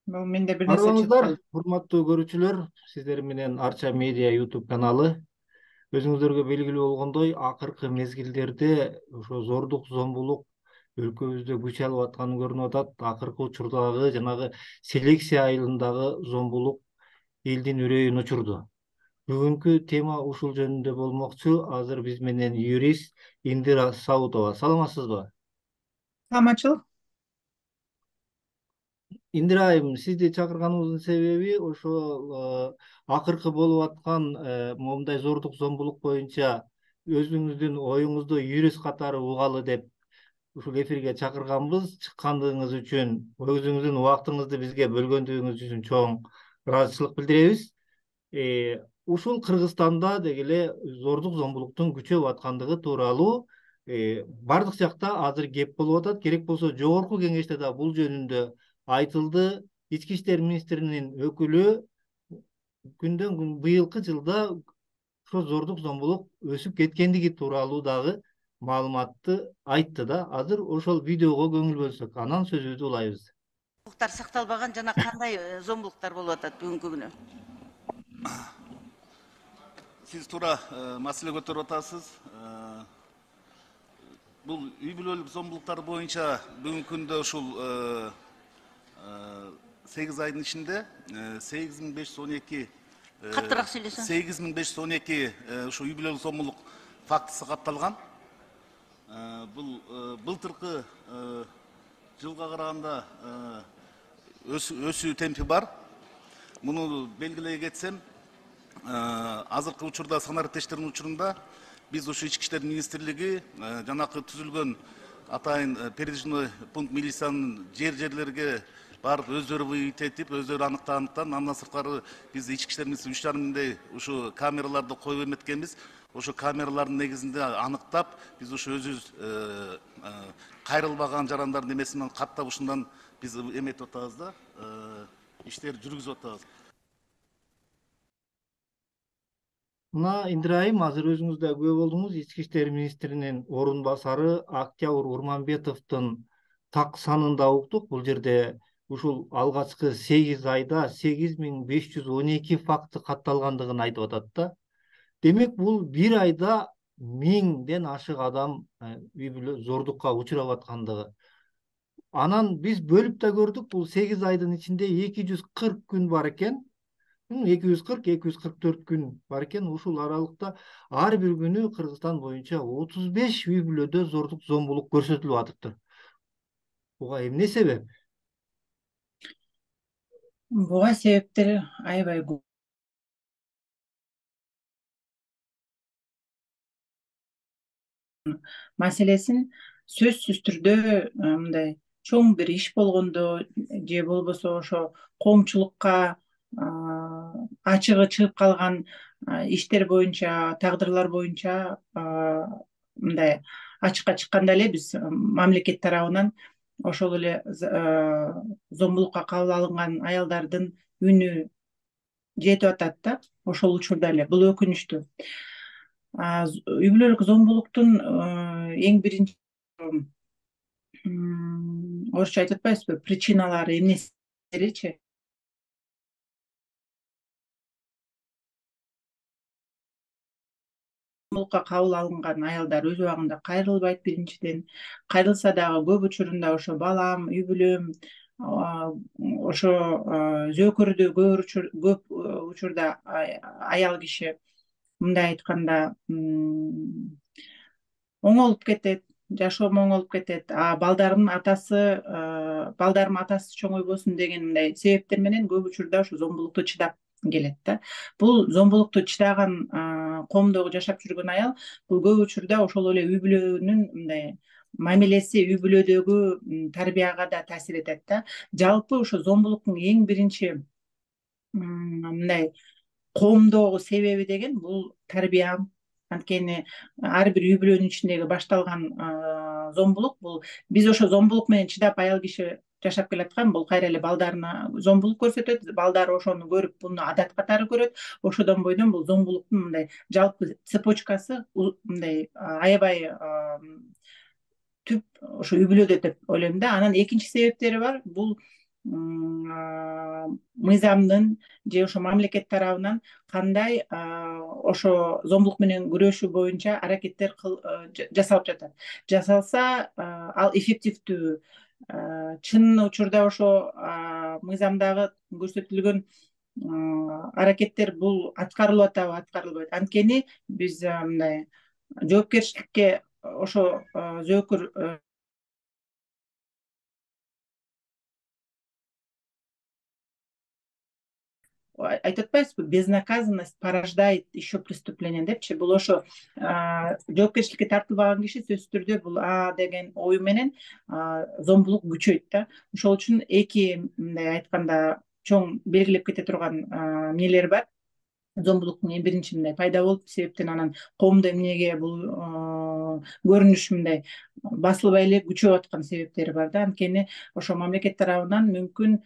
Менде бир нерсе чыгып Арыбаңыздар, калды. урматтуу көрүүчүлөр, сиздер менен Арча Медиа YouTube каналы. Өзүңүздөргө белгилүү болгондой, акыркы мезгилдерде ошо зордук, зомбулук өлкөбүздө күч алып атканы көрүнүп атат. Акыркы учурдагы жанагы селекция айылындагы зомбулук элдин үрөйүн учурду. Бүгүнкү тема ушул жөнүндө болмокчу. Азыр биз менен юрист Индира Саутова. Саламатсызбы? Саламатчылык. Индира айым, сизди чакырганыбыздын себеби ошол акыркы болуп аткан момундай зордук, зомбулук боюнча өзүңүздүн оюңузду юрист катары угалы деп ушул эфирге чакырганбыз. Чыккандыгыңыз үчүн, өзүңүздүн убактыңызды бизге бөлгөндүгүңүз үчүн чоң ыраазычылык билдиребиз. Ушул Кыргызстанда деги эле зордук, зомбулуктун күчөп аткандыгы тууралуу бардык жакта азыр кеп болуп атат. Керек болсо жогорку кеңеште да бул жөнүндө айтылды. Ички иштер министринин өкүлү күндөн күн быйылкы жылда ошо зордук, зомбулук өсүп кеткендиги тууралуу дагы маалыматты айтты да. Азыр ошол видеого көңүл бөлсөк, анан сөзүбүздү улайбыз. Сакталбаган жана кандай зомбулуктар болуп атат бүгүнкү күнү? Сиз туура маселе көтөрүп атасыз. Бул үй бүлөлүк зомбулуктар боюнча бүгүнкү күндө ушул 8 айдын ичинде 8512 Каттыраак сүйлөсөң. 8512 ушу үй бүлөлүк зомбулук фактысы катталган. Бул былтыркы жылга караганда өсүү темпи бар. Муну белгилей кетсем, азыркы учурда санариптештердин учурунда биз ушу Ички иштер министрлиги жанакы түзүлгөн атайын передвижной пункт милициянын жерлерге барып өздөрү выявить этип, өздөрү аныктагандыктан, андан сырткары биз Ички иштер министрлиги 3,5 миңдей ушу камераларды коюп эметкенбиз. Ошо камералардын негизинде аныктап, биз ушу өзүбүз кайрылбаган жарандардын эмеси менен каттап ушундан биз эметип атабыз да, иштер жүргүзүп атабыз. Мына Индира айым, азыр өзүңүз да күбө болдуңуз. Ички иштер министринин орун басары Октябрь Урманбетовдун так санын да уктук. Бул жерде ушул алгачкы 8 айда 8512 факты катталгандыгын айтып атат да. Демек, бул бир айда 1000ден ашык адам үй бүлө зордукка учурап аткандыгы. Анан биз бөлүп да көрдүк. Бул 8 айдын ичинде 240 күн бар экен. 240-244 күн бар экен. Ушул аралыкта ар бир күнү Кыргызстан боюнча 35 үй бүлөдө зордук, зомбулук көрсөтүлүп атыптыр. Буга эмне себеп? Буга себептер аябай көп. Маселесин сөзсүз түрдө мындай чоң бир иш болгондо же болбосо ошо коомчулукка ачыгы чыгып калган иштер боюнча, тагдырлар боюнча мындай ачыкка чыкканда эле биз мамлекет тарабынан ошол эле зомбулукка кабыл алынган аялдардын үнү жетип атат да ошол учурда эле. Бул өкүнүчтүү. Үй бүлөлүк зомбулуктун эң биринчи орусча айтып атпайбызбы, причиналары эмнесиричи? Зомбулукка кабыл алынган аялдар өз убагында кайрылбайт биринчиден. Кайрылса дагы көп учурунда ошо балам, үй бүлөм, ошо зөөкөрдү көп учурда аял киши мындай айтканда оңолуп кетет, жашоом оңолуп кетет. Балдарым атасы чоңойбосун деген мындай себептер менен көп учурда ошо зомбулукту чыдап келет да. Бул зомбулукту чыдаган коомдогу жашап жүргөн аял бул көп учурда ошол эле үй бүлөнүн мындай мамилеси, үй бүлөдөгү тарбияга да таасир этет да. Жалпы ошо зомбулуктун эң биринчи мындай коомдогу себеби деген бул тарбия. Анткени ар бир үй бүлөнүн ичиндеги башталган зомбулук бул биз ошо зомбулук менен чыдап аял киши жашап келаткан, бул кайра эле балдарына зомбулук көрсөтөт, балдары ошону көрүп буну адат катары көрөт. Ошодон бойдон бул зомбулуктун мындай жалпы цепочкасы мындай аябай түп ошо үй бүлөдө деп ойлойм да. Анан экинчи себептери бар. Бул мыйзамдын же ошо мамлекет тарабынан кандай ошо зомбулук менен күрөшүү боюнча аракеттер жасалып жатат. Жасалса ал эффективдүү. Чын учурда ошо мыйзамдагы көрсөтүлгөн аракеттер бул аткарылып атабы, аткарылбайт. Анткени биз мындай жоопкерчиликке ошо зөөкүр айтып атпайбызбы, безнаказанность порождает еще преступление депчи. Бул ошо жоопкерчиликке тартылбаган киши сөзсүз түрдө бул деген ою менен зомбулук күчөйт да. Ошол үчүн эки мындай айтканда чоң белгилеп кете турган эмнелер бар. Зомбулуктун эң биринчи мындай пайда болуп себептен анан коомдо эмнеге бул көрүнүш мындай басылбай эле күчөп аткан себептери бар да. Анткени ошо мамлекет тарабынан мүмкүн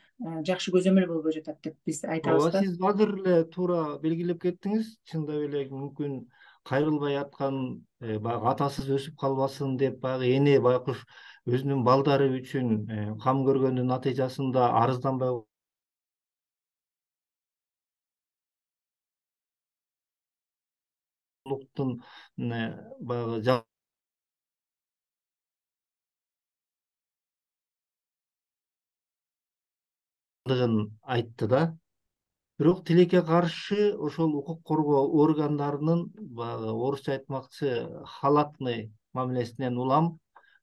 жакшы көзөмөл болбой жатат деп биз айтабыз Ооба, да. сиз азыр эле туура белгилеп кеттиңиз. Чындап эле мүмкүн кайрылбай аткан, баягы атасыз өсүп калбасын деп, баягы эне байкуш өзүнүн балдары үчүн кам көргөндүн натыйжасында арызданбай баягы айтты да. Бирок тилекке каршы ошол укук коргоо органдарынын баягы орусча айтмакчы халатный мамилесинен улам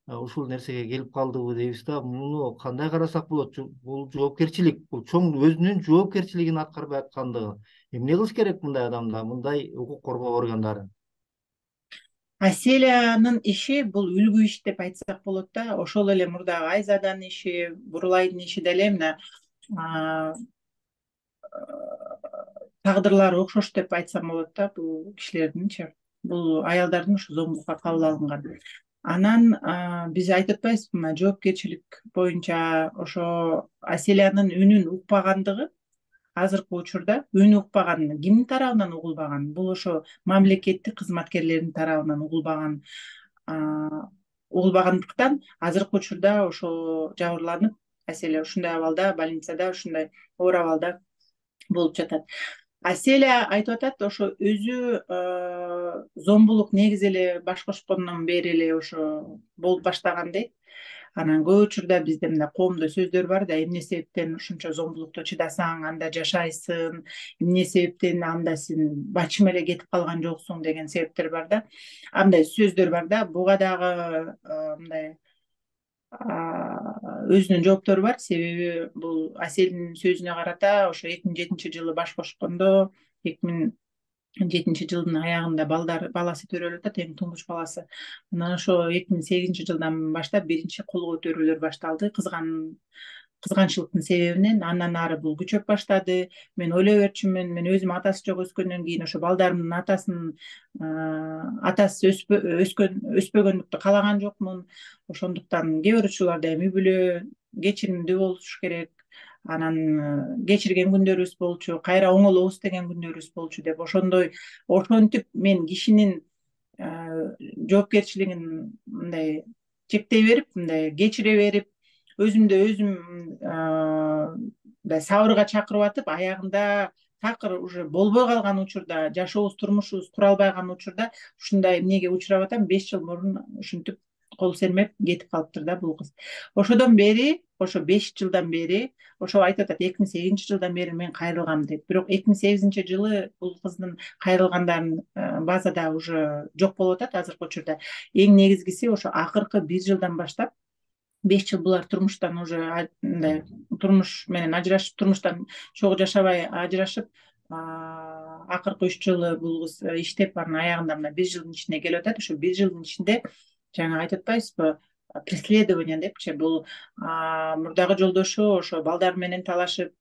ушул нерсеге келип калдыбы дейбиз да. Муну кандай карасак болот? Бул жоопкерчилик, бул чоң өзүнүн жоопкерчилигин аткарбай аткандыгы. Эмне кылыш керек мындай адамда, мындай укук коргоо органдары? Аселиянын иши бул үлгү иш деп айтсак болот да. Ошол эле мурдагы Айзаданын иши, Бурулайдын иши деле мына тагдырлары окшош деп айтсам болот да бул кишилердинчи. Бул аялдардын ушу зомбулукка кабыл алынган. Анан биз айтып атпайбызбы, мына жоопкерчилик боюнча ошо Аселиянын үнүн укпагандыгы азыркы учурда үнү укпаган кимдин тарабынан угулбаган? Бул ошо мамлекеттик кызматкерлердин тарабынан угулбагандыктан азыркы учурда ошо жабырланып Аселия ушундай абалда, больницада ушундай оор абалда болуп жатат. Аселия айтып атат, ошо өзү зомбулук негизи эле баш кошкондон бери эле ошо болуп баштаган дейт. Анан көп учурда бизде мындай коомдо сөздөр бар да, эмне себептен ушунча зомбулукта чыдасаң, анда жашайсың, эмне себептен анда сен бачым эле кетип калган жоксуң деген себептер бар да. Андай сөздөр бар да. Буга дагы мындай өзүнүн жооптору бар. Себеби бул Аселдин сөзүнө карата ошо 2007-жылы баш кошкондо 2007-жылдын аягында баласы төрөлүп атат, эң туңгуч баласы. Анан ошо 2008-жылдан баштап биринчи кол көтөрүүлөр башталды кызганчылыктын себебинен. Андан ары бул күчөп баштады. Мен ойлой берчүмүн, мен өзүм атасы жок өскөндөн кийин ошо балдарымдын атасы өспөгөндүктү калаган жокмун. Ошондуктан кээ бир учурларда эми үй бүлө кечиримдүү болуш керек. Анан кечирген күндөрүбүз болчу, кайра оңолобуз деген күндөрүбүз болчу деп ошентип мен кишинин жоопкерчилигин мындай чектей берип, мындай кечире берип, өзүмдү өзүм мындай сабырга чакырып атып, аягында такыр уже болбой калган учурда, жашообуз, турмушубуз кура албаган учурда ушундай эмнеге учурап атам. 5 жыл мурун ушинтип кол сермеп кетип калыптыр да бул кыз. Ошодон бери, ошо 5 жылдан бери, ошо айтып атат 2008-жылдан бери мен кайрылгам деп. Бирок 2008-жылы бул кыздын кайрылгандарын базада уже жок болуп атат азыркы учурда. Эң негизгиси ошо акыркы 1 жылдан баштап 5 жыл булар турмуштан уже мындай турмуш менен ажырашып, турмуштан чогуу жашабай ажырашып, акыркы 3 жылы бул кыз иштеп, анын аягында мына 1 жылдын ичине келип атат. Ошо 1 жылдын ичинде жаңа айтып атпайбызбы, преследование депчи, бул мурдагы жолдошу ошо балдар менен талашып,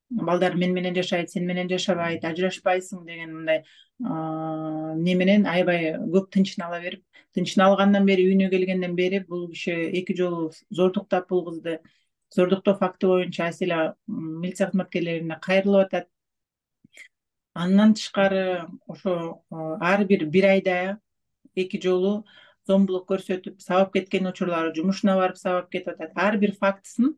балдар мен менен жашайт, сен менен жашабайт, ажырашпайсың деген мындай эмне менен аябай көп тынчын берип, тынчын алгандан бери, үйүнө келгенден бери бул киши 2 жолу зордуктап бул кызды, зордуктоо факты боюнча Аселия милиция кызматкерлерине кайрылып атат. Андан тышкары ошо ар бир айда 2 жолу зомбулук көрсөтүп, сабап кеткен учурлары, жумушуна барып сабап кетип атат. Ар бир фактысын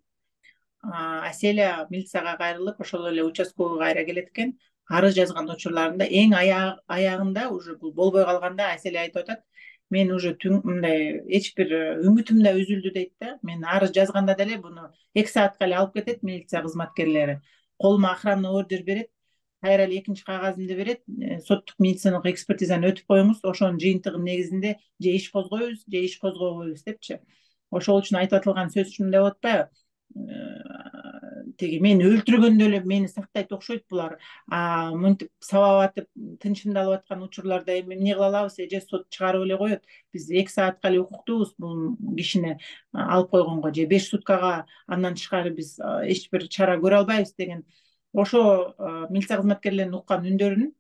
Аселия милицияга кайрылып, ошол эле участковый кайра келет экен. Арыз жазган учурларында эң аягында уже бул болбой калганда Аселия айтып атат, мен уже мындай эч бир үмүтүм да үзүлдү дейт да. Мен арыз жазганда деле буну 2 саатка эле алып кетет милиция кызматкерлери. Колума охранный ордер берет, кайра эле экинчи кагазымды берет, соттук медициналык экспертизаны өтүп коюңуз, ошонун жыйынтыгынын негизинде же иш козгойбуз, же иш козгобойбуз депчи. Ошол үчүн айтып атылган сөз ушундай болуп атпайбы? Тиги мени өлтүргөндө эле мени сактайт окшойт булар. Мынтип сабап атып, тынчымды алып аткан учурларда эми эмне кыла алабыз? Эже сот чыгарып эле коет. Биз 2 саатка эле укуктуубуз бул кишини алып койгонго, же 5 суткага андан тышкары биз эч бир чара көрө албайбыз деген. Ошо милиция кызматкерлеринин уккан үндөрүн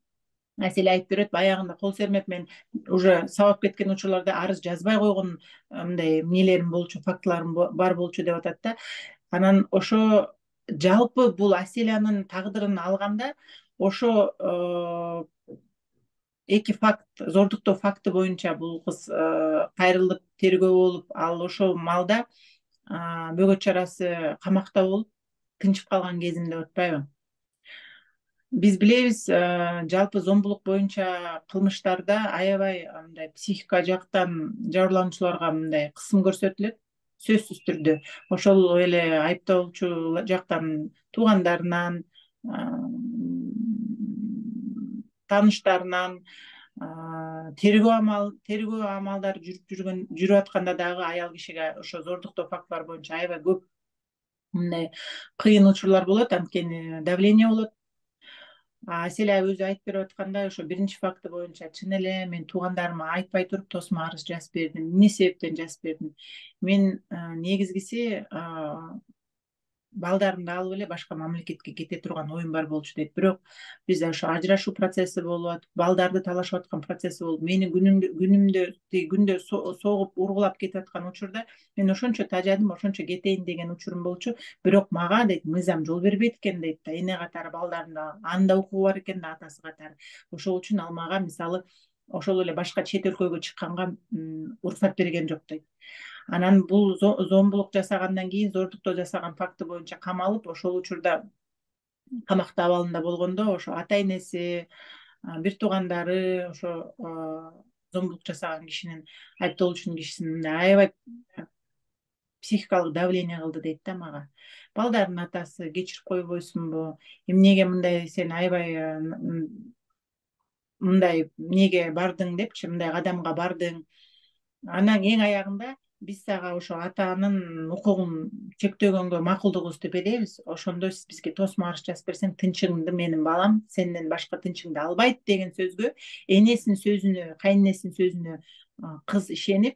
Аселия айтып берет. Баягында кол сермеп мен уже сабап кеткен учурларда арыз жазбай койгон мындай эмнелерим болчу, фактыларым бар болчу деп атат да. Анан ошо жалпы бул Аселиянын тагдырын алганда, ошо 2 факт, зордуктоо факты боюнча бул кыз кайрылып тергөө болуп, ал ошол малда бөгөт чарасы камакта болуп тынчып калган кезинде деп атпайбы? Биз билебиз, жалпы зомбулук боюнча кылмыштарда аябай мындай психика жактан жабырлануучуларга мындай кысым көрсөтүлөт, сөзсүз түрдө. Ошол эле айыптоочу жактан туугандарынан, тааныштарынан, тергөө амалдары жүрүп атканда дагы аял кишиге ошо зордуктоо фактылары боюнча аябай көп мындай кыйын учурлар болот, анткени давление болот. Аселия өзү айтып берип аткандай, ошо биринчи факты боюнча чын эле мен туугандарыма айтпай туруп тосмо арыз жазып бердим. Эмне себептен жазып бердим? Мен негизгиси балдарымды алып эле башка мамлекетке кете турган оюм бар болчу дейт. Бирок бизде ошо ажырашуу процесси болуп атып, балдарды талашып аткан процесси болуп, мени күндө согуп ургулап кетип аткан учурда мен ошончо тажадым, ошончо кетейин деген учурум болчу. Бирок мага дейт, мыйзам жол бербейт экен дейт да. Эне катары балдарымда анын да укугу бар экен да, атасы катары. Ошол үчүн ал мага мисалы ошол эле башка чет өлкөгө чыкканга уруксат берген жок дейт. Анан бул зомбулук жасагандан кийин, зордуктоо жасаган факты боюнча камалып, ошол учурда камакта абалында болгондо ошо ата энеси, бир туугандары ошо зомбулук жасаган кишинин, айыпталуучунун кишисин аябай психикалык давление кылды дейт да мага. Балдардын атасы кечирип койбойсуңбу? Эмнеге мындай сен аябай мындай эмнеге бардың депчи, мындай кадамга бардың? Анан эң аягында биз сага ошо атанын укугун чектөгөнгө макулдугубузду беребиз. Ошондо сиз бизге тосмо арыз жазып берсең, тынчыңды менин балам сенден башка тынчыңды албайт деген сөзгө, энесинин сөзүнө, кайненесинин сөзүнө кыз ишенип,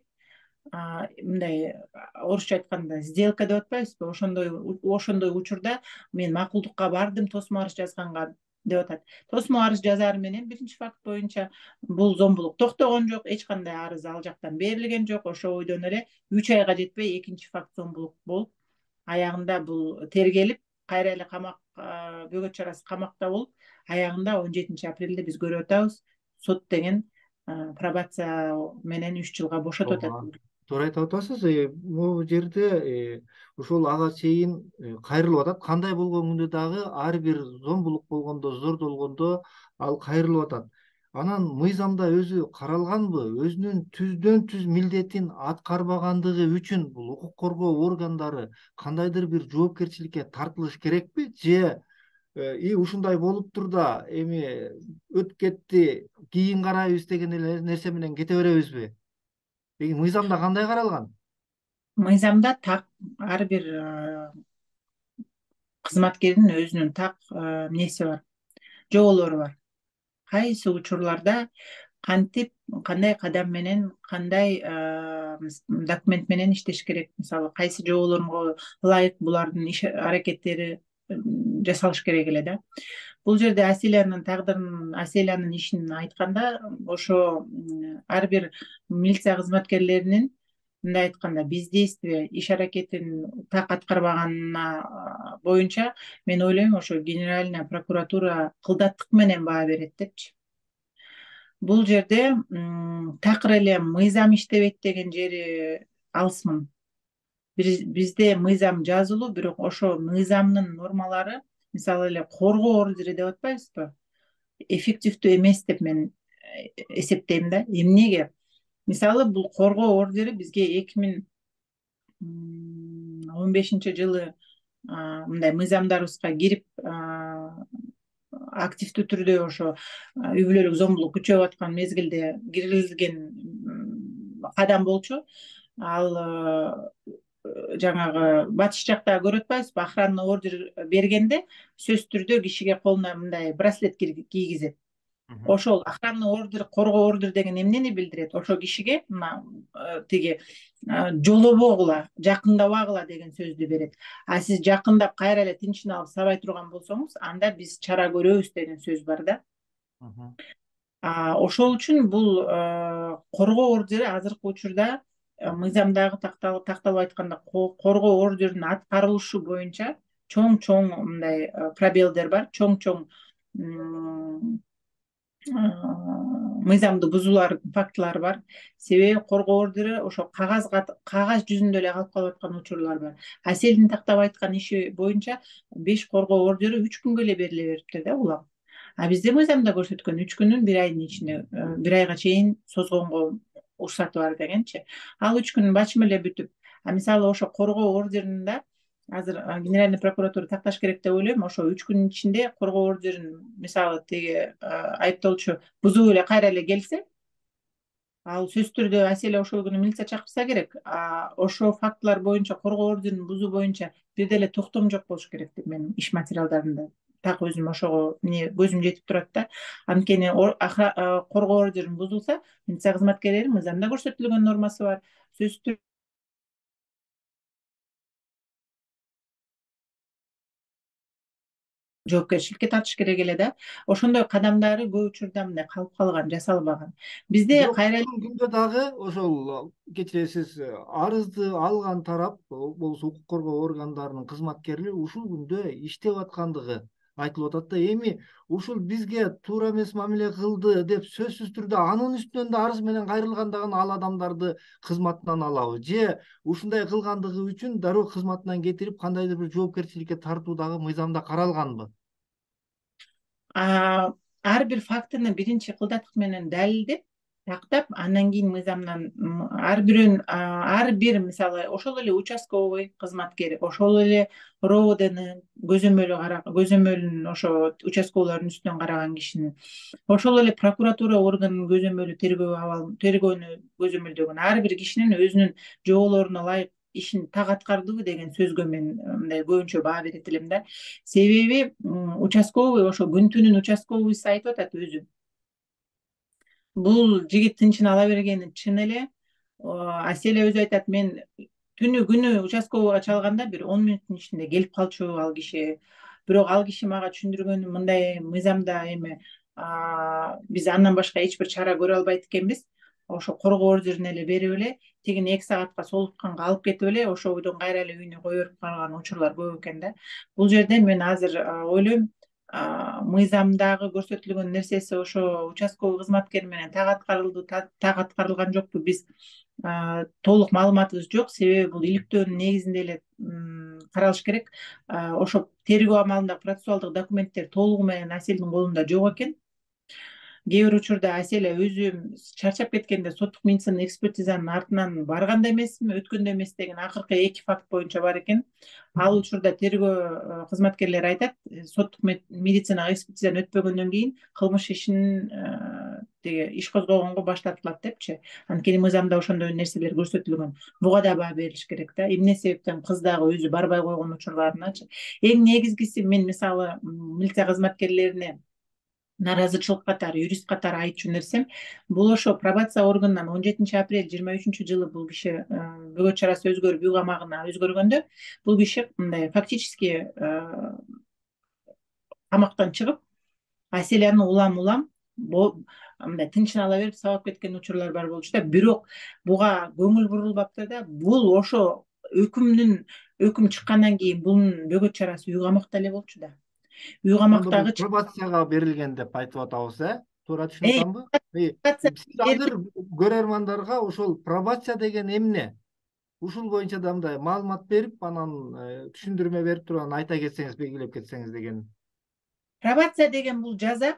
мындай орусча айтканда сделка деп атпайбызбы? Ошондой учурда мен макулдукка бардым тосмо арыз жазганга деп атат. Тосмо арыз жазары менен биринчи факт боюнча бул зомбулук токтогон жок, эч кандай арыз ал жактан берилген жок. Ошо бойдон эле 3 айга жетпей экинчи факт зомбулук болуп, аягында бул тергелип, кайра эле камак бөгөт чарасы камакта болуп, аягында 17 апрелде биз көрүп атабыз, сот деген пробация менен 3 жылга бошотуп атат. Туура айтып атасыз. Могу жерде ушул ага чейин кайрылып атат. Кандай болгондо дагы ар бир зомбулук болгондо, зордолгондо ал кайрылып атат. Анан мыйзамда өзү каралганбы? Өзүнүн түздөн түз милдетин аткарбагандыгы үчүн бул укук коргоо органдары кандайдыр бир жоопкерчиликке тартылыш керекпи? Же ушундай болуптур да эми өтүп кетти, кийин карайбыз деген эле нерсе менен кете беребизби? Мыйзамда кандай каралган? Мыйзамда так ар бир кызматкердин өзүнүн так эмнеси бар, жоболору бар. Кайсы учурларда кантип, кандай кадам менен, кандай документ менен иштеш керек. Мисалы, кайсы жоболорго ылайык булардын иш аракеттери жасалыш керек эле да. Бул жерде Аселиянын тагдырын, Аселиянын ишин айтканда, ошо ар бир милиция кызматкерлеринин мындай айтканда бездействие, иш аракетин так аткарбаганына боюнча мен ойлойм, ошо Генеральная прокуратура кылдаттык менен баа берет депчи. Бул жерде такыр эле мыйзам иштебейт деген жери алысмын. Бизде мыйзам жазылуу, бирок ошо мыйзамдын нормалары, мисалы эле коргоо ордери деп атпайбызбы, эффективдүү эмес деп мен эсептейм да. Эмнеге? Мисалы бул коргоо ордери бизге 2015-жылы мындай мыйзамдарыбызга кирип, активдүү түрдө ошо үй бүлөлүк зомбулук күчөп аткан мезгилде киргизилген кадам болчу. Ал жаңагы батыш жакта көрүп атпайбызбы, охранный ордер бергенде сөзсүз түрдө кишиге колуна мындай браслет кийгизет. Ошол охранный ордер, коргоо ордер деген эмнени билдирет? Ошо кишиге тиги жолобогула, жакындабагыла деген сөздү берет. А сиз жакындап кайра эле тынчын сабай турган болсоңуз, анда биз чара көрөбүз деген сөз бар да. Ошол үчүн бул коргоо ордери азыркы учурда мыйзамдагы такталып айтканда коргоо ордеринин аткарылышы боюнча чоң мындай пробелдер бар, чоң мыйзамды бузуулар фактылар бар. Себеби коргоо ордери ошо кагаз жүзүндө эле калып аткан учурлар бар. Аселдин тактап айткан иши боюнча 5 коргоо ордери 3 күнгө эле бериле бериптир да улам. А бизде мыйзамда көрсөткөн 3 күнүн 1 айдын ичинде, 1 айга чейин созгонго уруксаты бар дегенчи. Ал 3 күн бачым эле бүтүп. Мисалы ошо коргоо ордерин да азыр генеральный прокуратура такташ керек деп ойлойм. Ошо 3 күнүн ичинде коргоо ордерин мисалы тиги айыптоочу бузуп эле кайра эле келсе, ал сөзсүз түрдө Аселя ошол күнү милиция чакырса керек. Ошо фактылар боюнча коргоо ордерин бузуу боюнча бир деле токтом жок болуш керек деп мен иш материалдарында так өзүм ошого көзүм жетип турат да. Анткени коргоо ордерин бузулса, милиция кызматкерлери мыйзамда көрсөтүлгөн нормасы бар. Сөзсүз жоопкерчиликке тартыш керек эле да. Ошондой кадамдары көп учурда мындай калып калган, жасалбаган. Бизде кайра эле күндө дагы ошол кечиресиз, арызды алган тарап болсо укук коргоо органдарынын кызматкерлери ушул күндө иштеп аткандыгы айтылып атат да. Эми ушул бизге туура эмес мамиле кылды деп сөзсүз түрдө анын үстүнөн да арыз менен кайрылгандагы ал адамдарды кызматынан алабы, же ушундай кылгандыгы үчүн дароо кызматынан кетирип кандайдыр бир жоопкерчиликке тартуу дагы мыйзамда каралганбы? Ар бир фактыны биринчи кылдатык менен далилдеп тактап, андан кийин мыйзамдан ар бир мисалы ошол эле участковый кызматкер, ошол эле РОВДнын көзөмөлүн ошо участковлордун үстүнөн караган кишинин, ошол эле прокуратура органынын көзөмөлү, тергөөнү көзөмөлдөгөн ар бир кишинин өзүнүн жоолоруна ылайык ишин так аткардыбы деген сөзгө мен мындай көбүнчө баа берет элем да. Себеби участковый, ошо Күнтүнүн участковыйсы айтып атат өзү. Бул жигит тынчын ала бергени чын эле. Аселя өзү айтат, мен күнү участковыйга чалганда бир 10 мүнөттүн ичинде келип калчу ал киши. Бирок ал киши мага түшүндүргөнү мындай, мыйзамда эми биз андан башка эч бир чара көрө албайт экенбиз. Ошо коргоо ордерин эле берип эле, тигини 2 саатка солукканга алып кетип эле, ошол бойдон кайра эле үйүнө кое берип калган учурлар көп экен да. Бул жерде мен азыр ойлойм, мыйзамдагы көрсөтүлгөн нерсеси ошо участковый кызматкер менен так аткарылды, так аткарылган жокпу, биз толук маалыматыбыз жок. Себеби бул иликтөөнүн негизинде эле каралыш керек. Ошо тергөө амалындагы процессуалдык документтер толугу менен Аселдин колунда жок экен. Кээ бир учурда Аселя өзү чарчап кеткенде соттук медицина экспертизанын артынан барган да эмесмин, өткөн да эмес деген акыркы 2 факт боюнча бар экен. Ал учурда тергөө кызматкерлери айтат, соттук медицина экспертизаны өтпөгөндөн кийин кылмыш ишин тиги иш козгогонго баш тартылат депчи. Анткени мыйзамда ошондой нерселер көрсөтүлгөн. Буга да баа берилиш керек да. Эмне себептен кыз дагы өзү барбай койгон учурларыначы. Эң негизгиси, мен мисалы милиция кызматкерлерине нааразычылык катары, юрист катары айтчу нерсем, бул ошо пробация органынан 17 апрель 23-жылы бул киши бөгөт чарасы өзгөрүп үй камагына өзгөргөндө, бул киши мындай фактически камактан чыгып, Аселяны улам мындай тынчын ала берип сабап кеткен учурлар бар болчу да. Бирок буга көңүл бурулбаптыр да. Бул ошо өкүм чыккандан кийин бунун бөгөт чарасы үй камакта эле болчу да. Үй камактагы пробацияга берилген деп айтып атабыз, туура түшүнүп атамбы? Сиз азыр көрөрмандарга ошол пробация деген эмне? ушул боюнча да мындай маалымат берип, анан түшүндүрмө берип туруп анан айта кетсеңиз, белгилеп кетсеңиз деген. Пробация деген бул жаза.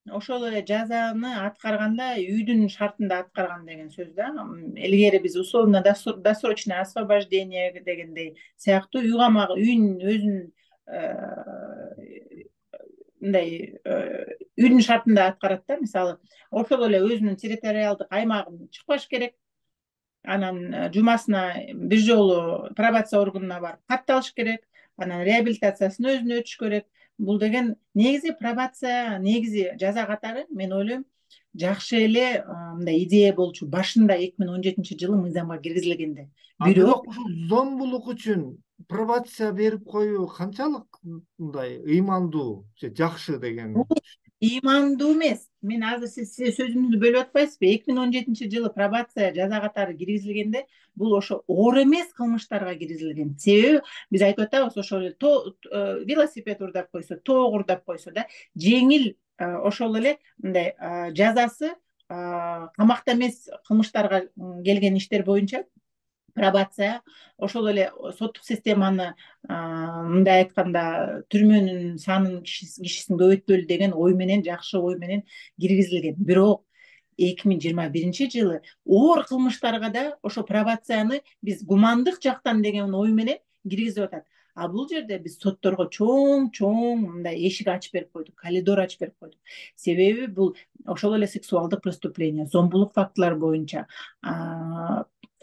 Ошол эле жазаны аткарганда үйдүн шартында аткарган деген сөз да. Илгери биз условно досрочное освобождение дегендей сыяктуу үй камагы, үйүн өзүнүн мындай үйдүн шартында аткарат да. Мисалы, ошол эле өзүнүн территориалдык аймагын чыкпаш керек. Анан жумасына бир жолу пробация органына барып катталыш керек. Анан реабилитациясын өзүнө өтүш керек. Бул деген негизи пробация, негизи жаза катары мен ойлойм жакшы эле мындай идея болчу башында 2017-жылы мыйзамга киргизилгенде. Бирок ушул зомбулук үчүн пробация берип коюу канчалык мындай ыймандуу же жакшы деген. Ыймандуу эмес. Мен азыр сиз сөзүмдү бөлүп атпайсызбы? 2017-жылы пробация жаза катары киргизилгенде бул ошо оор эмес кылмыштарга киргизилген. Себеби биз айтып атабыз, ошол эле велосипед урдап койсо, тоок урдап койсо да жеңил ошол эле мындай жазасы камакта эмес кылмыштарга келген иштер боюнча пробация ошол эле соттук системаны мындай айтканда түрмөнүн санын кишисин көбөйтпөлү деген ой менен, жакшы ой менен киргизилген. Бирок 2021-жылы оор кылмыштарга да ошо пробацияны биз гумандык жактан деген ой менен киргизип атат. А бул жерде биз сотторго чоң мындай эшик ачып берип койдук, коридор ачып берип койдук. Себеби бул ошол эле сексуалдык преступление, зомбулук фактылары боюнча,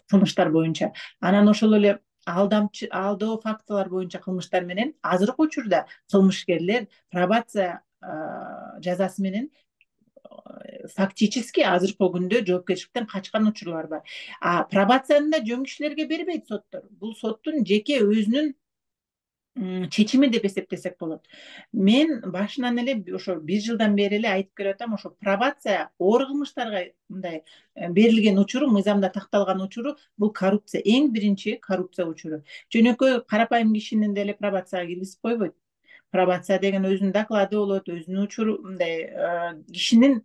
кылмыштар боюнча, анан ошол эле алдоо фактылар боюнча кылмыштар менен азыркы учурда кылмышкерлер пробация жазасы менен фактически азыркы күндө жоопкерчиликтен качкан учурлар бар. А пробацияны да жөн кишилерге бербейт соттор. Бул соттун жеке өзүнүн чечими деп эсептесек болот. Мен башынан эле ошо 1 жылдан бери эле айтып келип атам, ошо пробация оор кылмыштарга мындай берилген учуру, мыйзамда такталган учуру бул коррупция, эң биринчи коррупция учуру. Жөнөкөй карапайым кишинин деле пробацияга киргизип койбойт. Пробация деген өзүнүн доклады болот, өзүнүн учуру мындай кишинин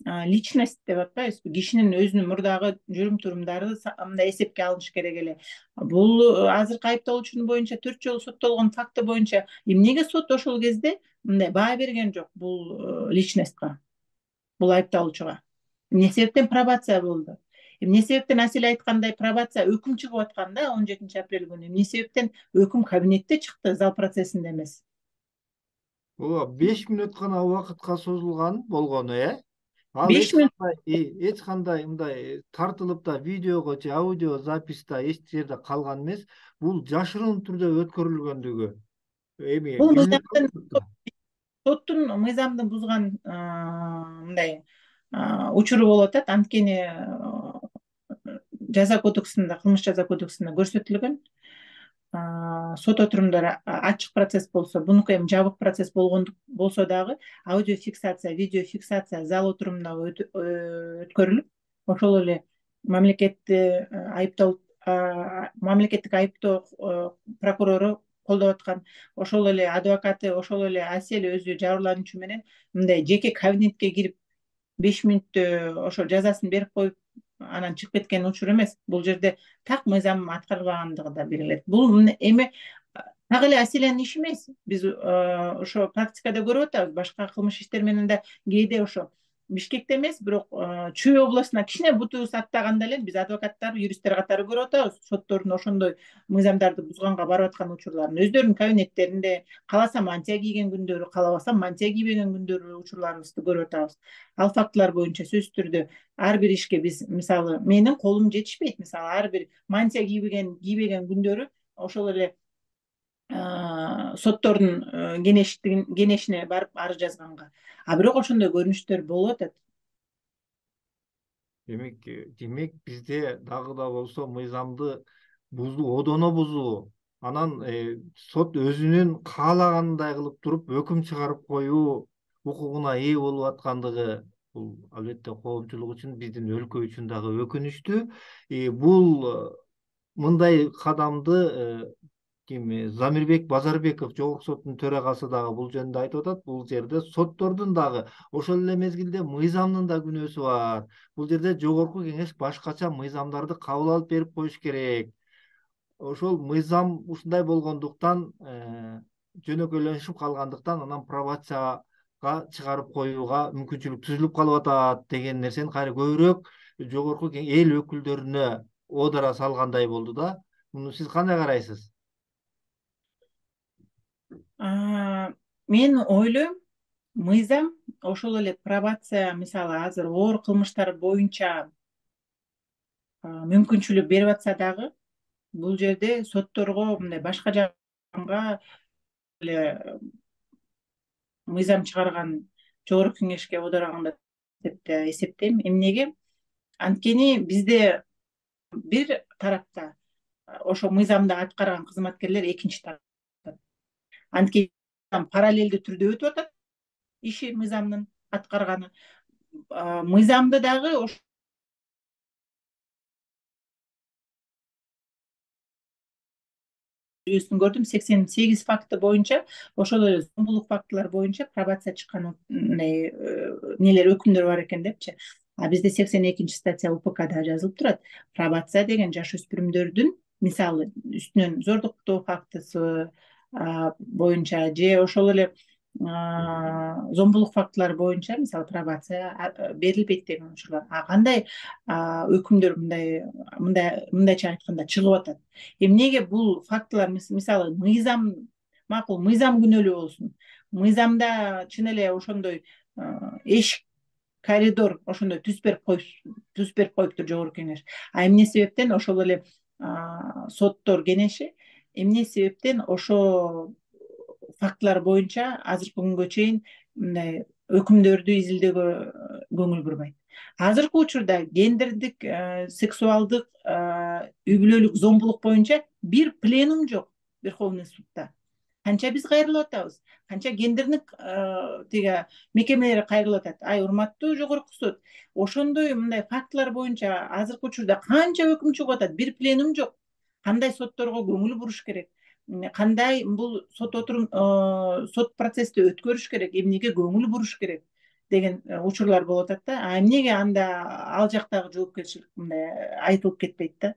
личность деп атпайбызбы, кишинин өзүнүн мурдагы жүрүм турумдары мындай эсепке алыныш керек эле. Бул азыркы айыпталуучунун боюнча 4 жолу соттолгон факты боюнча эмнеге сот ошол кезде мындай баа берген жок бул личностька, бул айыпталуучуга? Эмне себептен пробация болду? Эмне себептен Асель айткандай пробация өкүм чыгып атканда 17-апрель күнү эмне себептен өкүм кабинетте чыкты, зал процессинде эмес? Ооба, 5 мүнөт гана убакытка созулган болгону, Ал 5 мүнөт эч кандай мындай тартылып да видеого же аудио записта эч жерде калган эмес. Бул жашыруун түрдө өткөрүлгөндүгү эми бул соттун мыйзамды бузган мындай учуру болуп атат. Анткени жаза кодексинде, кылмыш жаза кодексинде көрсөтүлгөн. Сот отурумдары ачык процесс болсо, бунуку эми жабык процесс болсо дагы аудиофиксация, видеофиксация зал отурумунда өткөрүлүп, ошол эле мамлекеттик айыптоо прокурору колдоп аткан, ошол эле адвокаты, ошол эле Асель өзү жабырлануучу менен мындай жеке кабинетке кирип 5 мүнөттө ошо жазасын берип коюп анан чыгып кеткен учур эмес. Бул жерде так мыйзам аткарылбагандыгы да белгилет. Бул эми так эле Аселянын иши эмес. Биз ошо практикада көрүп атабыз, башка кылмыш иштер менен да кээде ошо Бишкекте эмес, бирок Чүй областына кичине бутубуз аттаганда эле биз адвокаттар, юристтер катары көрүп атабыз соттордун ошондой мыйзамдарды бузганга барып аткан учурларын. Өздөрүнүн кабинеттеринде кааласа мантия кийген күндөрү, каалабаса мантия кийбеген күндөрү учурларыбызды көрүп атабыз. Ал фактылар боюнча сөзсүз түрдө ар бир ишке биз, мисалы, менин колум жетишпейт. Мисалы, ар бир мантия кийбеген күндөрү ошол эле соттордун кеңешине барып арыз жазганга. А бирок ошондой көрүнүштөр болуп атат. Демек бизде дагы да болсо мыйзамды одоно бузуу, анан сот өзүнүн каалагандай кылып туруп өкүм чыгарып коюу укугуна ээ болуп аткандыгы, бул албетте коомчулук үчүн, биздин өлкө үчүн дагы өкүнүчтүү. Бул мындай кадамды Замирбек Базарбеков, Жогорку соттун төрагасы дагы бул жөнүндө айтып атат. Бул жерде соттордун дагы ошол эле мезгилде мыйзамдын да күнөөсү бар. Бул жерде Жогорку кеңеш башкача мыйзамдарды кабыл алып берип коюш керек. ошол мыйзам ушундай болгондуктан жөнөкөйлөнүшүп калгандыктан анан пробацияга чыгарып коюуга мүмкүнчүлүк түзүлүп калып атат деген нерсени кайра көбүрөөк жогорку эл өкүлдөрүнө оодара салгандай болду да. Муну сиз кандай карайсыз? Мен ойлойм, мыйзам ошол эле пробация, мисалы азыр оор кылмыштар боюнча мүмкүнчүлүк берип атса дагы, бул жерде сотторго мындай башка жагга эле мыйзам чыгарган жогорку кеңешке оодараганда деп эсептейм. Эмнеге? Анткени бизде бир тарапта ошо мыйзамды аткарган кызматкерлер, экинчи тарапта. Анткени параллелдүү түрдө өтүп атат иши, мыйзамдын аткарганы. Мыйзамды дагы көрдүм, 88 факты боюнча, ошол эле зомбулук фактылар боюнча пробация чыккан нелер, өкүмдөр бар экен депчи. А бизде 82 статья УПКда жазылып турат. Пробация деген жаш өспүрүмдөрдүн, мисалы үстүнөн зордуктоо фактысы боюнча же ошол эле зомбулук фактылары боюнча, мисалы пробация берилбейт деген учурлар. Кандай өкүмдөр мындайча айтканда чыгып атат. Эмнеге бул фактылар, мисалы мыйзам, макул, мыйзам күнөөлүү болсун. Мыйзамда чын эле ошондой эшик, коридор ошондой түз берип коюптур жогорку кеңеш. Эмне себептен ошол эле соттор кеңеши эмне себептен ошо фактылар боюнча азыркы күнгө чейин мындай өкүмдөрдү изилдөөгө көңүл бурбайт? Азыркы учурда гендердик, сексуалдык, үй бүлөлүк зомбулук боюнча бир пленум жок Верховный судта. Канча биз кайрылып атабыз, канча гендердик тиги мекемелер кайрылып атат. Урматтуу жогорку суд, ошондой мындай фактылар боюнча азыркы учурда канча өкүм чыгып атат, бир пленум жок. Кандай сотторго көңүл буруш керек, кандай бул сот процессти өткөрүш керек, эмнеге көңүл буруш керек деген учурлар болуп атат да. Эмнеге анда ал жактагы жоопкерчилик мындай айтылып кетпейт да?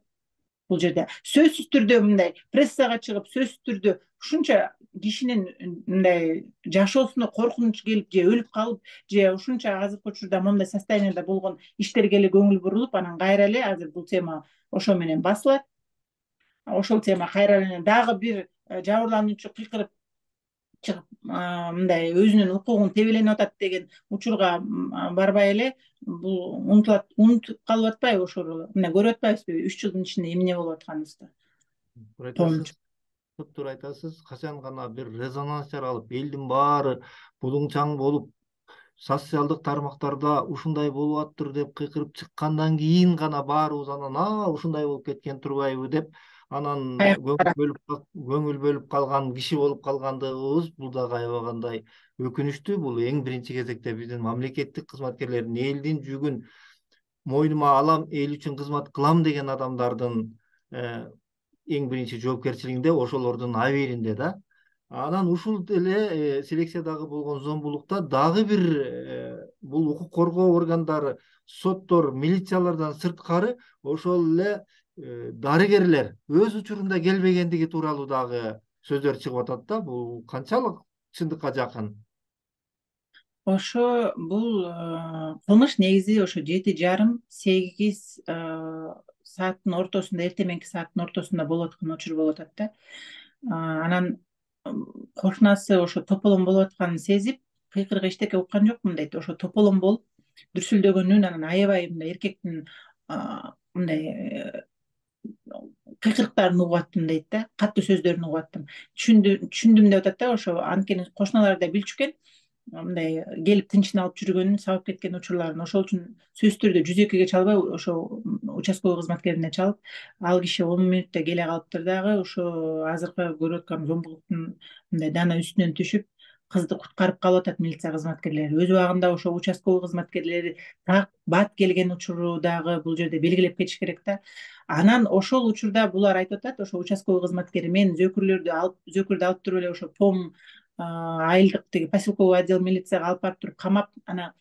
Бул жерде сөзсүз түрдө мындай прессага чыгып, сөзсүз түрдө ушунча кишинин мындай жашоосуна коркунуч келип, же өлүп калып, же ушунча азыркы учурда моундай состоянияда болгон иштерге эле көңүл бурулуп, анан кайра эле азыр бул тема ошо менен басылат. Ошол тема кайра эле дагы бир жабырлануучу кыйкырып чыгып, мындай өзүнүн укугун тебеленип атат деген учурга барбай эле бул унутуп калып атпайбы? Ошол мына көрүп атпайбызбы 3 жылдын ичинде эмне болуп атканыбызды? Туура айтасыз. Качан гана бир резонанс жаралып, элдин баары булуңчаң болуп, социалдык тармактарда ушундай болуп аттыр деп кыйкырып чыккандан кийин гана баарыбыз анан ушундай болуп кеткен турбайбы деп анан көңүл бөлүп калган киши болуп калгандыгыбыз бул дагы аябагандай өкүнүчтүү. Бул эң биринчи кезекте биздин мамлекеттик кызматкерлердин, элдин жүгүн мойнума алам, эл үчүн кызмат кылам деген адамдардын эң биринчи жоопкерчилигинде, ошолордун абийиринде да. Анан ушул эле селекциядагы болгон зомбулукта дагы бир бул укук коргоо органдары, соттор, милициялардан сырткары ошол эле дарыгерлер өз учурунда келбегендиги тууралуу дагы сөздөр чыгып атат да. Бул канчалык чындыкка жакын? Ошо бул кылмыш негизи ошо 7:30-8 сааттын ортосунда, эртең мененки сааттын ортосунда болуп аткан учур болуп атат да. Анан кошунасы ошо тополом болуп атканын сезип, кыйкырык эчтеке уккан жокмун дейт. Ошо тополом болуп дүрсүлдөгөнүн, анан аябай мындай эркектин мындай кыйкырыктарын угуп аттым дейт да, катуу сөздөрүн угуп аттым. Түшүндүм деп атат да. Ошо анткени кошуналар да билчү экен, мындай келип тынчын алып жүргөнүн, сабап кеткен учурларын. Ошол үчүн сөзсүз түрдө 102-ге чалбай, ошо участковый кызматкерине чалып, ал киши 10 мүнөттө келе калыптыр дагы. Ошо азыркы көрүп аткан зомбулуктун мындай дана үстүнөн түшүп, кызды куткарып калып атат милиция кызматкерлери. Өз убагында ошо участковый кызматкерлери так бат келген учуру дагы бул жерде белгилеп кетиш керек да. Анан ошол учурда булар айтып атат, ошо участковый кызматкери мен зөкүрлөрдү алып туруп эле ошо ПОМ айылдык тиги поселковый отдел милицияга алып барып туруп камап, анан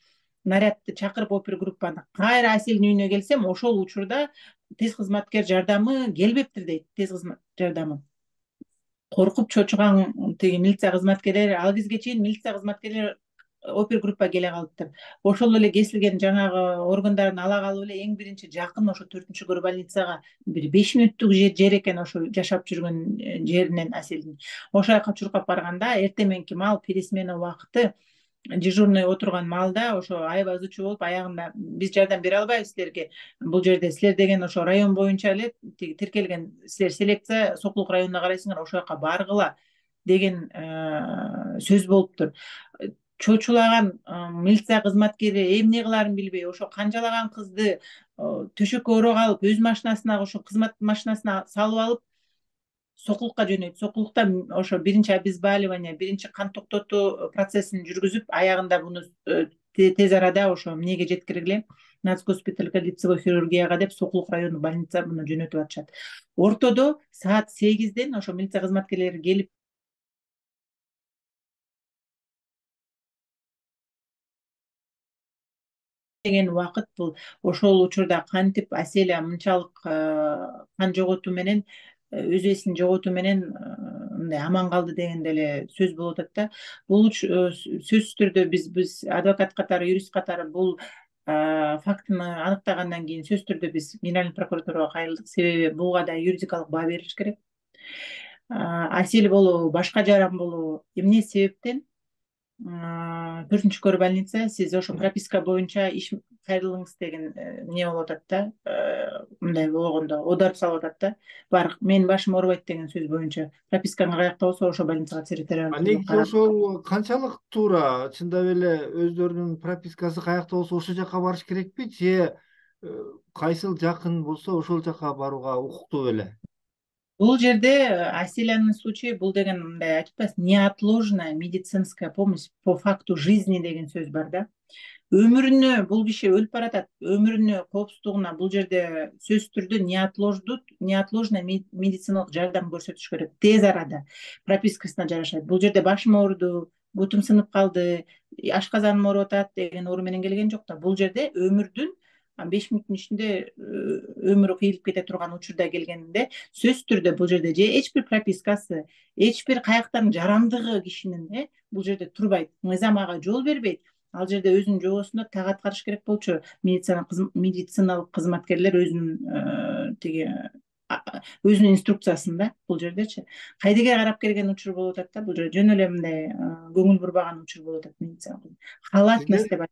нарядты чакырып, опергруппаны кайра Аселдин үйүнө келсем, ошол учурда тез кызматкер жардамы келбептир дейт. Тез кызмат жардамы коркуп чочуган тиги милиция кызматкерлери ал кезге чейин милиция кызматкерлери опергруппа келе калыптыр. Ошол эле кесилген жаңагы органдарын ала калып эле эң биринчи жакын ошо 4-көр больницага бир 5 мүнөттүк жер экен, ошо жашап жүргөн жеринен Аселдин. Ошол жака чуркап барганда эртең мененки мал пересмена убакыты дежурный отурган маалда ошо аябай ызычуу болуп, аягында биз жардам бере албайбыз силерге. Бул жерде силер деген ошо район боюнча эле тиркелген, силер селекция Сокулук районуна карайсыңар, ошол жака баргыла деген сөз болуптур. Чочулаган милиция кызматкери эмне кыларын билбей, ошо канжалаган кызды төшөккө ороп алып, өз машинасына, ошо кызмат машинасына салып алып Сокулукка жөнөйт. Сокулукта ошо биринчи обезболивание, биринчи кан токтотуу процессин жүргүзүп, аягында буну тез арада ошо эмнеге жеткиргиле, Нацгоспитальга, лицевой хирургияга деп Сокулук району больница муну жөнөтүп атышат. Ортодо саат 8ден ошо милиция кызматкерлери келип деген убакыт бул ошол учурда кантип Аселя мынчалык кан жоготуу менен, өз эсин жоготуу менен мындай аман калды дегенде эле сөз болуп атат да. Бул сөзсүз түрдө биз адвокат катары, юрист катары бул фактыны аныктагандан кийин сөзсүз түрдө биз Генеральный прокуратурага кайрылдык. Себеби буга да юридикалык баа бериш керек. Асел болобу, башка жаран болобу, эмне себептен 4-көр больница сиз ошо прописка боюнча иш кайрылыңыз деген эмне болуп атат да, мындай болгондо оодарып салып атат да. Бар, менин башым оорубайт деген сөз боюнча пропискаң каякта болсо ошо больницага территориалдуу Негизи ошол канчалык туура? Чындап эле өздөрүнүн пропискасы каякта болсо ошол жака барыш керекпи, же кайсыл жакын болсо ошол жака барууга укуктуу беле? Бул жерде Аселянын случайы бул деген мындай айтып атпайбы, неотложная медицинская помощь по факту жизни деген сөз бар да. Өмүрүнө бул киши өлүп баратат, өмүрүнө коопсуздугуна бул жерде сөзсүз түрдө неотложная медициналык жардам көрсөтүш керек тез арада, пропискасына жараша. Бул жерде башым ооруду, бутум сынып калды, ашказаным ооруп атат деген оору менен келген жок да. Бул жерде өмүрдүн 5 мүнөттүн ичинде өмүрү кыйылып кете турган учурда келгенде сөзсүз түрдө бул жерде же эч бир пропискасы, эч бир каяктан жарандыгы кишинин бул жерде турбайт. Мыйзам ага жол бербейт. Ал жерде өзүнүн жобосунда так аткарыш керек болчу. Медициналык кызматкерлер өзүнүн инструкциясында бул жердечи кайдыгер карап келген учур болуп атат да. Бул жерде жөн эле мындай көңүл бурбаган учур болуп атат медицина. Халатность деп.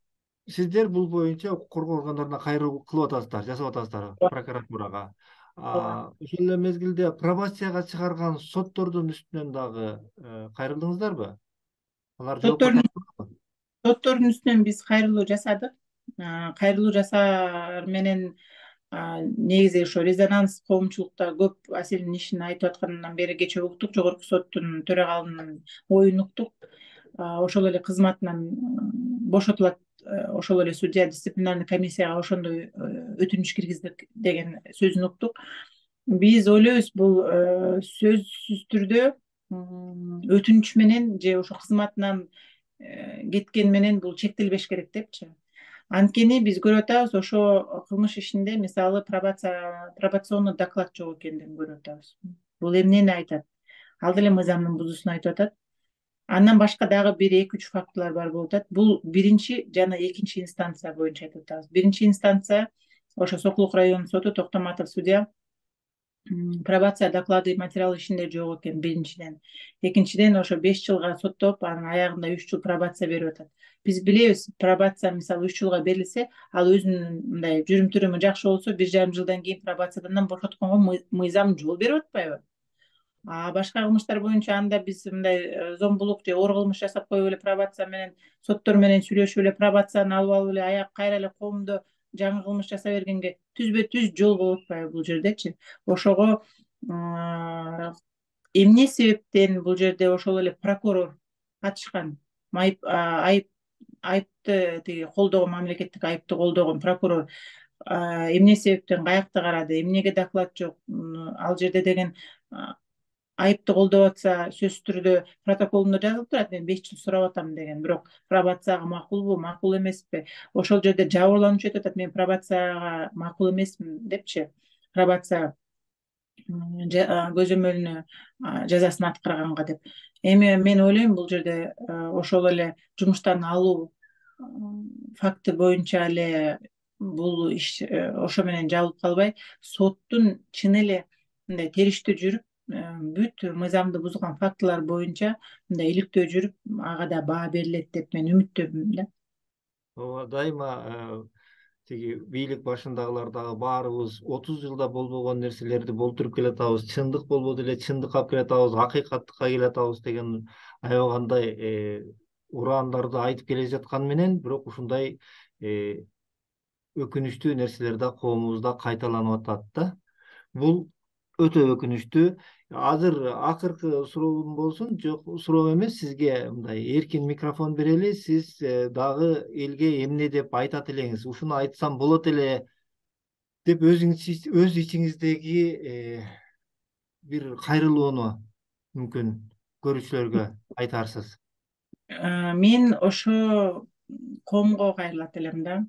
Сиздер бул боюнча укук коргоо органдарына кайрылуу кылып атасыздар, жасап атасыздар прокуратурага. Ошол эле мезгилде пробацияга чыгарган соттордун үстүнөн дагы кайрылдыңыздарбы? Алар Соттордун үстүнөн биз кайрылуу жасадык. Кайрылуу жасаар менен негизи ошо резонанс коомчулукта көп Аселдин ишин айтып аткандан бери кечээ уктук, жогорку соттун төрагалынын оюн уктук. Ошол эле кызматынан бошотулат, ошол эле судья дисциплинарный комиссияга ошондой өтүнүч киргиздик деген сөзүн уктук. Биз ойлойбуз бул сөзсүз түрдө өтүнүч менен же ошо кызматынан кеткен менен бул чектелбеш керек депчи. Анткени биз көрүп атабыз ошо кылмыш ишинде мисалы пробационный доклад жок экендигин көрүп атабыз. Бул эмнени айтат? Ал деле мыйзамдын бузуусун айтып атат. Андан башка дагы 1-2-3 фактылар бар болуп атат. Бул биринчи жана экинчи инстанция боюнча айтып атабыз. Биринчи инстанция ошо Сокулук районунун соту Токтоматов судья пробация доклады материал ишинде жок экен биринчиден. Экинчиден ошо 5 жылга соттоп, анын аягында 3 жыл пробация берип атат. Биз билебиз, пробация мисалы 3 жылга берилсе, ал өзүнүн мындай жүрүм-туруму жакшы болсо 1,5 жылдан кийин пробациядан бошотконго мыйзам жол берип атпайбы? Башка кылмыштар боюнча анда биз мындай зомбулук же оор кылмыш жасап коюп эле пробация менен, соттор менен сүйлөшүп эле пробацияны алып эле аяк кайра эле коомдо жаңы кылмыш жаса бергенге түзбө-түз жол болуп атпайбы бул жердечи? Ошого эмне себептен бул жерде ошол эле прокурор катышкан, айыпты тиги колдогон, мамлекеттик айыпты колдогон прокурор эмне себептен каякты карады, эмнеге доклад жок? Ал жерде деген айыпты колдоп атса сөзсүз түрдө протоколунда жазылып турат, мен 5 жыл сурап атам деген, бирок пробацияга макулбу, макул эмеспи? Ошол жерде жабырлануучу айтып атат, мен пробацияга макул эмесмин депчи. пробация көзөмөлүнө жазасын аткарганга деп. Эми мен ойлойм бул жерде ошол эле жумуштан алуу факты боюнча эле бул иш ошо менен жабылып калбай, соттун чын эле мындай териштүү жүрүп, бүт мыйзамды бузган фактылар боюнча мындай иликтөө жүрүп, ага да баа берилет деп мен үмүттөмүн да. Ооба, дайыма тиги бийлик башындагылар дагы баарыбыз 30 жылда болбогон нерселерди болтуруп келатабыз, чындык болбоду эле чындыкка алып келатабыз, акыйкаттыкка келатабыз деген аябагандай ураандарды айтып келе жатканы менен, бирок ушундай өкүнүчтүү нерселер да коомубузда кайталанып атат да. Бул өтө өкүнүчтүү. Азыр акыркы суроом болсун, жок суроо эмес, сизге мындай эркин микрофон берели, сиз дагы элге эмне деп айтат элеңиз, ушуну айтсам болот эле деп өз ичиңиздеги бир кайрылууну мүмкүн көрүүчүлөргө айтарсыз. Мен ошо коомго кайрылат элем да.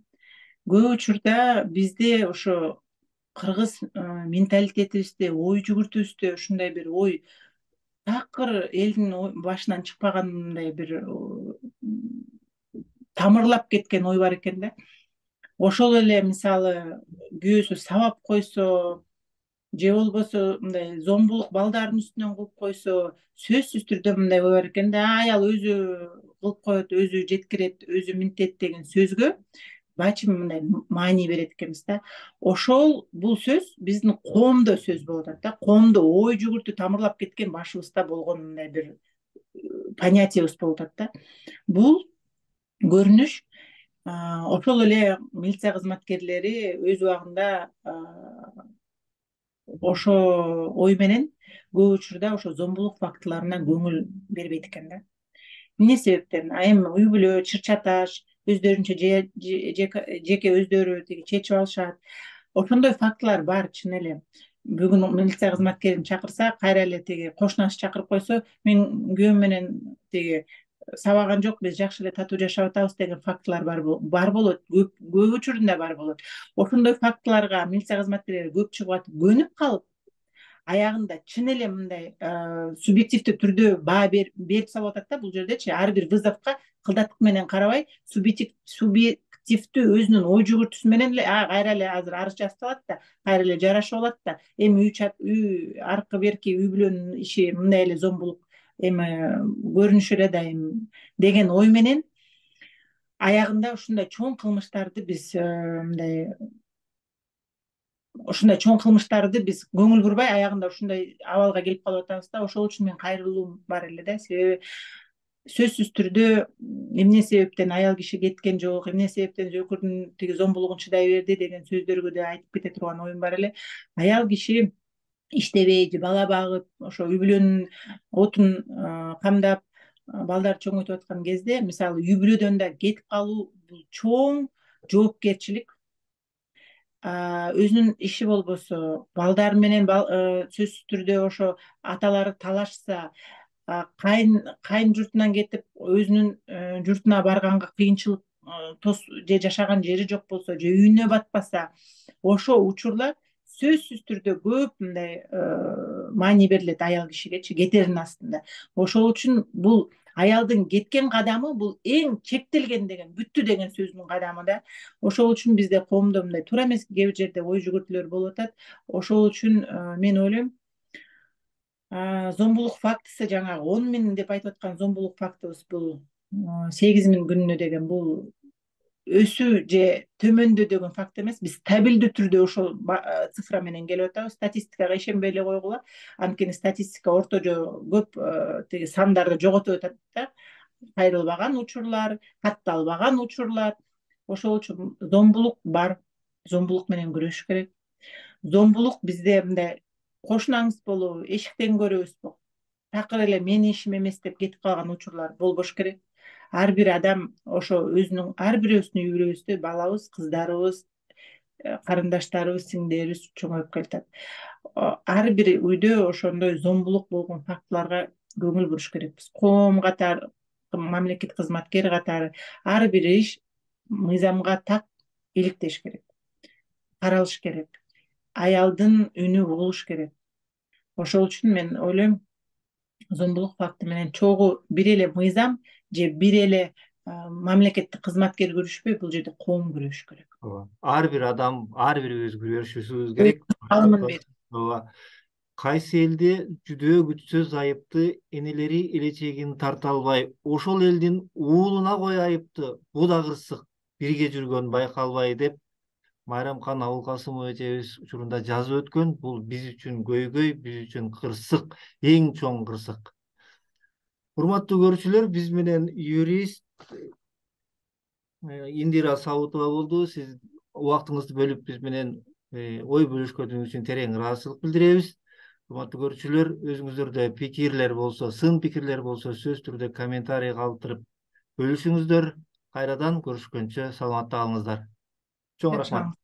Көп учурда бизде ошо кыргыз менталитетибизде, ой жүгүртүүбүздө ушундай бир ой такыр элдин башынан чыкпагандай бир тамырлап кеткен ой бар экен да. Ошол эле мисалы күйөөсү сабап койсо же болбосо мындай зомбулук балдардын үстүнөн кылып койсо, сөзсүз түрдө мындай ой бар экен да, аял өзү кылып коет, өзү жеткирет, өзү минтет деген сөзгө бачым мындай маани берет экенбиз да. Ошол бул сөз биздин коомдо сөз болуп атат да. Коомдо ой жүгүртүү тамырлап кеткен башыбызда болгон мындай бир понятиебиз болуп атат да. Бул көрүнүш ошол эле милиция кызматкерлери өз убагында ошо ой менен көп учурда ошо зомбулук фактыларына көңүл бербейт экен да. Эмне себептен? Эми үй бүлө, чыр чаташ өздөрүнчө жеке өздөрү тиги чечип алышат. Ошондой фактылар бар чын эле. Бүгүн милиция кызматкерин чакырса, кайра эле тиги кошунасын чакырып койсо, мен күйөөм менен тиги сабаган жок, биз жакшы эле татуу жашап атабыз деген фактылар бар болот. Көп учурунда бар болот. Ошондой фактыларга милиция кызматкерлери көп чыгып атып, көнүп калып, аягында чын эле мындай субъективдүү түрдө баа берип салып атат да. Бул жердечи ар бир вызовко кылдаттык менен карабай, субъективдүү өзүнүн ой жүгүртүүсү менен эле кайра эле азыр арыз жазып салат да, кайра эле жарашып алат да. Эми үй аркы берки үй бүлөнүн иши мындай эле зомбулук эми көрүнүшү эле да эми деген ой менен аягында ушундай чоң кылмыштарды биз көңүл бурбай, аягында ушундай абалга келип калып атабыз да. Ошол үчүн мен кайрылуум бар эле да. Себеби сөзсүз түрдө эмне себептен аял киши кеткен жок, эмне себептен зөөкүрдүн тиги зомбулугун чыдай берди деген сөздөргө да айтып кете турган оюм бар эле. Аял киши иштебей же бала багып, ошо үй бүлөнүн отун камдап, балдарды чоңойтуп аткан кезде, мисалы үй бүлөдөн да кетип калуу бул чоң жоопкерчилик. Өзүнүн иши болбосо, балдары менен сөзсүз түрдө ошо аталары талашса, кайын журтунан кетип өзүнүн журтуна барганга кыйынчылык же жашаган жери жок болсо, же үйүнө батпаса, ошо учурлар сөзсүз түрдө көп мындай маани берилет аял кишигечи, кетердин астында. Ошол үчүн бул аялдын кеткен кадамы бул эң чектелген деген, бүттү деген сөздүн кадамы да. Ошол үчүн бизде коомдо мындай туура эмес кээ бир жерде ой жүгүртүүлөр болуп атат. Ошол үчүн мен ойлойм, зомбулук фактысы жаңагы 10 миң деп айтып аткан зомбулук фактыбыз бул 8 миң күнүнө деген бул өсүү же төмөндөө деген факт эмес. Биз стабилдүү түрдө ошол цифра менен келип атабыз. Статистикага ишенбей эле койгула. Анткени статистика ортожо көп тиги сандарды жоготуп атат да. Кайрылбаган учурлар, катталбаган учурлар. Ошол үчүн зомбулук бар. Зомбулук менен күрөшүш керек. Зомбулук бизде мындай кошунаңыз болобу, эшиктен көрөбүзбү, такыр эле менин ишим эмес деп кетип калган учурлар болбош керек. Ар бир адам ошо өзүнүн ар бирөөбүздүн үй бүлөбүздө балабыз, кыздарыбыз, карындаштарыбыз, сиңдерибиз чоңоюп келатат. Ар бир үйдө ошондой зомбулук болгон фактыларга көңүл буруш керекпиз. Коом катары, мамлекет кызматкери катары ар бир иш мыйзамга так иликтеш керек, каралыш керек. аялдын үнү болуш керек. Ошол үчүн мен ойлойм, зомбулук факты менен чогуу бир эле мыйзам же бир эле мамлекеттик кызматкер күрөшпөй, бул жерде коом күрөшүш керек. Ооба. Ар бир адам, ар бирибиз күрөшүшүбүз керек. Алымын берип. Ооба. Кайсы элде жүдөө күчсөз айыпты энелери элечегин тарта албай, ошол элдин уулуна кой айыпты, бу да кырсык, бирге жүргөн байкалбай деп Майрамкан Абылкасымова эжебиз учурунда жазып өткөн. Бул биз үчүн көйгөй, биз үчүн кырсык, эң чоң кырсык. Урматтуу көрүүчүлөр, биз менен юрист Индира Сабутова болду. Сиз убактыңызды бөлүп биз менен ой бөлүшкөнүңүз үчүн терең ыраазычылык билдиребиз. Урматтуу көрүүчүлөр, өзүңүздөрдө пикирлер болсо, сын пикирлер болсо, сөзсүз түрдө комментарий калтырып бөлүшүңүздөр. Кайрадан көрүшкөнчө саламатта калыңыздар. Чоң рахмат.